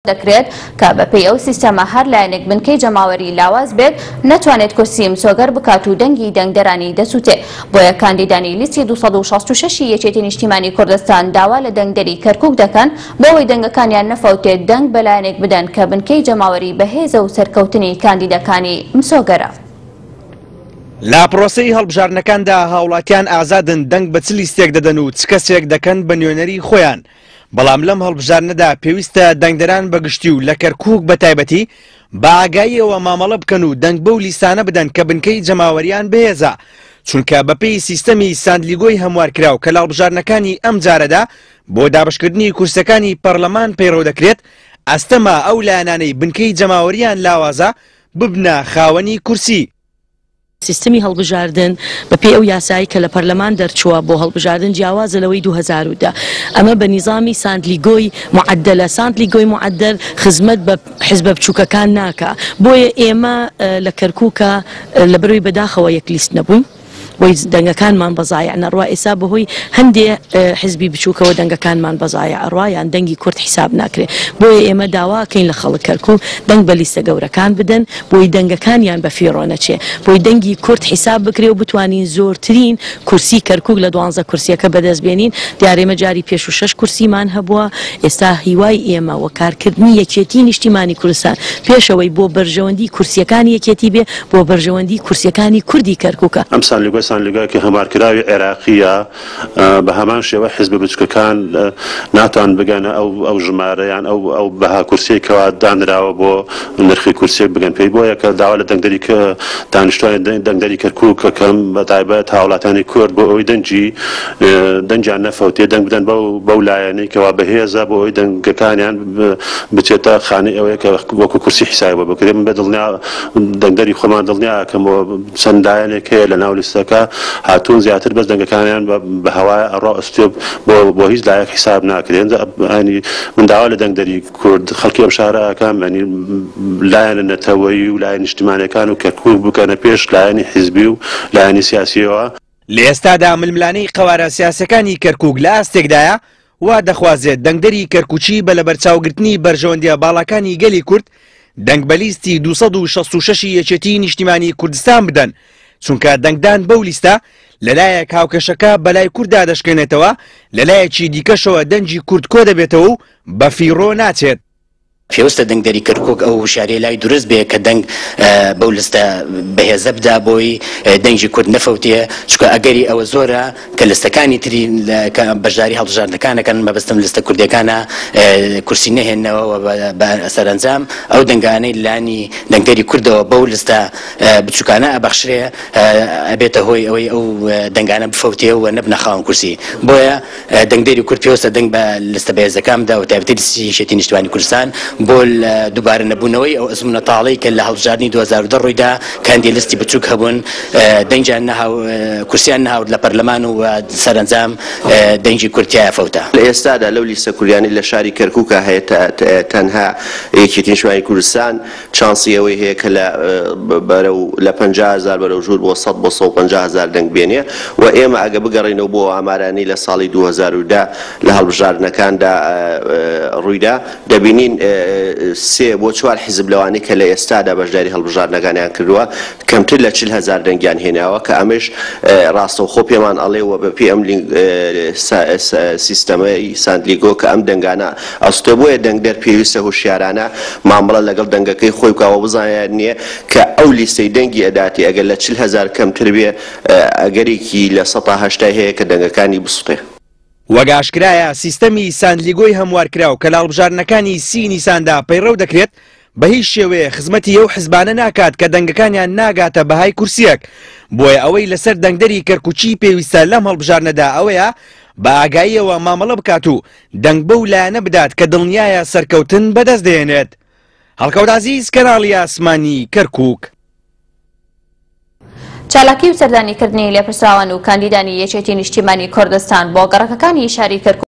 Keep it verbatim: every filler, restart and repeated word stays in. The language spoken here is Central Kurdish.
دەکرێت کە بەپێی ئەو سیستەمە هەر لایەنێک بنکەی جەماوەری لاواز بێت نەتوانێت کورسی مسۆگەر بکات و دەنگی دەنگدەرانی دەسووتێ. بۆیە کاندیدانی لیستی دوو سەد و شەست و شەش یەکێتی نیشتیمانی کوردستان داوا لە دەنگدەری کەرکوک دەکەن بۆ ئەوەی دەنگەکانیان نەفەوتێت دەنگ بەلایەنێک بدەن کە بنکەی جەماوەری بەهێزە و سەرکەوتنی کاندیدەکانی مسۆگەرە. لە پرۆسەی هەڵبژاردنەکاندا هاوڵاتیان ئازادن دەنگ بە چ لیستێک دەدەن و چ کەسێک دەکەن بە نوێنەری خۆیان. بەڵام لەم هەڵبژاردنەدا پێویستە دەنگدەران بەگشتی و لە کەرکوک بە تایبەتی بە ئاگاییەوە مامەڵە بکەن و دەنگ بەو لیستانە بدەن کە بنکەی جەماوەریان بەهێزە، چونکە بەپێی سیستەمی ساندلیگۆی هەموارکراو کە لە هەڵبژاردنەکانی ئەم جارەدا بۆ دابشکردنی کورسەکانی پەرلەمان پەیڕەو دەکرێت، ئەستەمە ئەو لایەنانەی بنکەی جەماوەریان لاوازە ببنە خاوەنی کورسی. سیستمی هەڵبژاردن بەپێی ئەو یاسایی کە لە پەرلەمان دەرچووە بۆ هەڵبژاردن جیاوازە لەوەی دوو هەزار و دە. ئەمە بە نیزامی ساندلیگۆی معدلە. ساندلیگۆی معدل خزمەت بە حزبە بچووکەکان ناکا. بۆیە ئێمە لە کەرکووکە لە بەرەوەی بەداخەوە یەک لیست نەبووین، بۆی دەنگەکانمان بەزایع نەڕوا. ئێستا بەهۆی هەندێ حزبی بچووکەوە دەنگەکانمان بەزایع ئەڕوا یان دەنگی کورد حیساب ناکرێ. بۆیە ئێمە داواکەین لە خەڵک کەرکوو دەنگ بە لیستە گەورەکان بدەن بۆی دەنگەکانیان بە فیڕۆ نەچێ، بۆی دەنگی کورد حیساب بکرێ و بتوانین زۆرترین کورسی کەرکووک لە دوانزە کورسیەکە بەدەست بێنین. دیارێمە جاری پێش و شەش کورسیمان هەبووە. ئێستا هیوای ئێمە وە کارکردنی یەکێتی نیشتیمانی کوردستان پێشەوەی بۆ بەرژەوەندی کورسیەکانی یەکێتی بێ، بۆ بەرژەوەندی کورسیەکانی کوردی کەرکووکە. ئەم ساندلیگۆی ساندلیگۆیەکی هەموارکراوی عێراقیە، بە هەمان شێوە حیزبە بچووکەکان ناتوان بگەنە ئەو ئەو ژمارەیان ئەو ئەو بەها کورسیەکەوە دانراوە بۆ نرخی کورسیەک بگەن پێی. بۆیە کە داوا لە دەنگدەری کە دانیشتوانی دەنگدەری کەرکووک کەم بە تایبەت هاوڵاتیانی کورد بۆ ئەوەی دەنگی دەنگیان نەفەوتێ دەنگ بدەن بەو بەو لایەنەی کەوا بەهێزە بۆ ئەوەی دەنگەکانیان بچێتە خانەی ئەوەیە کە وەکو کورسی حیسابی بۆ بکرێت. من بە دڵنیا دەنگدەری خۆمان دڵنیاکەم بۆ چەند لایەنێک هەیە لە ناو لیستەکە هاتوون زیاتر بەس دەنگەکانیان بە هەوای ئەڕا ئەستێ بۆ بۆ هیچ لایەک حیساب ناکرێن. من داوا لە دەنگدەری کورد خەڵکی ئەم شارە ئەکەم ینی لایەنە نەتەوەیی و لایەن نیشتیمانەکان و کەرکووک بکەنە پێش لایەنی حیزبی و لایەنی سیاسیەوە. لە ئێستادا ململانەی قەوارە سیاسەکانی کەرکووک لە ئاستێکدایە وا دەخوازێت دەنگدەری کەرکووکی بە لەبەرچاوگرتنی بەرژەوەندیە باڵاکانی گەلی کورد دەنگ بە لیستی دوو سەد و شەست و شەش یەکێتی نیشتیمانی کوردستان بدەن، چونکە دەنگدان بەو لیستە لەلایەک هاوکێشەکە بەلای کورددا دەشکێنێتەوە، لەلایەکی دیکەشەوە دەنگی کورد کۆ دەبێتەوە و بە فیڕۆ ناچێت. پێویستە دەنگدەری کەرکووک ئەو هوشیاریە لای دروست بێ کە دەنگ بەو لیستە بەهێزە بدا بۆی دەنگی کورد نەفەوتێ، چونکە ئەگەری ئەوە زۆرە کە لیستەکانی تری کە بەشداری هەڵبژاردنەکانەکەن، مەبەستم لیستە کوردیەکانە کورسی نەهێننەوە بە سەرەنجام ئەو دەنگانەی لانی دەنگدەری کوردەوە بەو لیستە بچووکانە ئەبەخشرێ ئەبێتە هۆی ئەوەی ئەو دەنگانە بفەوتێ و نەبنە خاوەن کورسی. بۆیە دەنگدەری کورد پێویستە دەنگ بە لیستە بەهێزەکان بدا و تایبەتی لیستی یەکێتی نیشتیمانی کوردستان بۆ دووبارە نەبوونەوەی ئەو ئەزمونە تاڵەی کە لە هەڵبژاردنی دوو هەزار و دە ڕوویدا کە هەندێک لیستی بچووک هەبوون دەنگیان نەهاو کورسیان نەهاورد لە پەرلەمان و سەرەنجام دەنگی کورد تیایا فەوتا. لە ئێستادا لەو لیستە کوردیانەی لە شاری کەرکووکە هەیە تەنها یەکێتی نیشتیمانی کوردستان چانسی ئەوەی هەیە کە لە بەرەو لە پەنجا هەزار بەرەو ژوور بۆ سەد بۆ سەد و پەنجا هەزار دەنگ بێنێ و ئێمە ئەگە بگەڕێینەوە بۆ ئامارانی لە ساڵی دوو هەزار و دە لە هەڵبژاردنەکاندا ڕوویدا دەبینین سێ بۆ چوار حیزب لەوانەی کە لە ئێستادا بەشداری هەڵبژاردنەکانیان کردووە کەمتر لە چل هەزار دەنگیان هێناوە کە ئەمەش ڕاستەوخۆ پێمان ئەڵێ و بەپێی ئەم سیستەمەی ساندلیگۆ کە ئەم دەنگانە ئەستێ. بۆیە دەنگدەر پێویستە هۆشیارانە مامەڵە لەگەڵ دەنگەکەی خۆی بکاوە بزانێت نییە کە ئەو لیستەی دەنگی ئەداتی ئەگەر لە چل هەزار کەمتر بێ ئەگەرێکی لە سەدا هەشتای هەیە کە دەنگەکانی بسوڕێ. وەک ئاشکرایە سیستەمی ساندلیگۆی هەموارکراو کە لە هەڵبژاردنەکانی سی نیساندا پەیڕەو دەکرێت بە هیچ شێوەیە خزمەتی ئەو حزبانە ناکات کە دەنگەکانیان ناگاتە بەهای کورسیەک. بۆیە ئەوەی لەسەر دەنگدەری کەرکووکی پێویستە لەم هەڵبژاردنەدا ئەوەیە بە ئاگاییەوە مامەڵە بکات و دەنگ بەو لایەنە بدات کە دڵنیایە سەرکەوتن بەدەست دێنێت. هەڵکەوت عەزیز، کەناڵی ئاسمانی کەرکووک. چالاکی و سەردانیکردنی لێپرسراوان و کاندیدانی یەکێتی نیشتیمانی کوردستان بۆ گەڕەکەکانی شاری کەرکووک